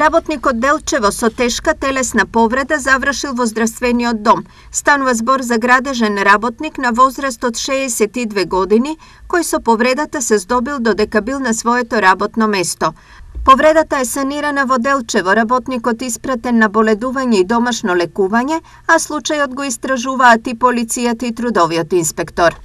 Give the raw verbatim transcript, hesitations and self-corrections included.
Работникот Делчево со тешка телесна повреда завршил во здравствениот дом. Станува збор за градежен работник на возраст од шеесет и две години, кој со повредата се здобил додека бил на своето работно место. Повредата е санирана во Делчево, работникот испратен на боледување и домашно лекување, а случајот го истражуваат и полицијата и трудовиот инспектор.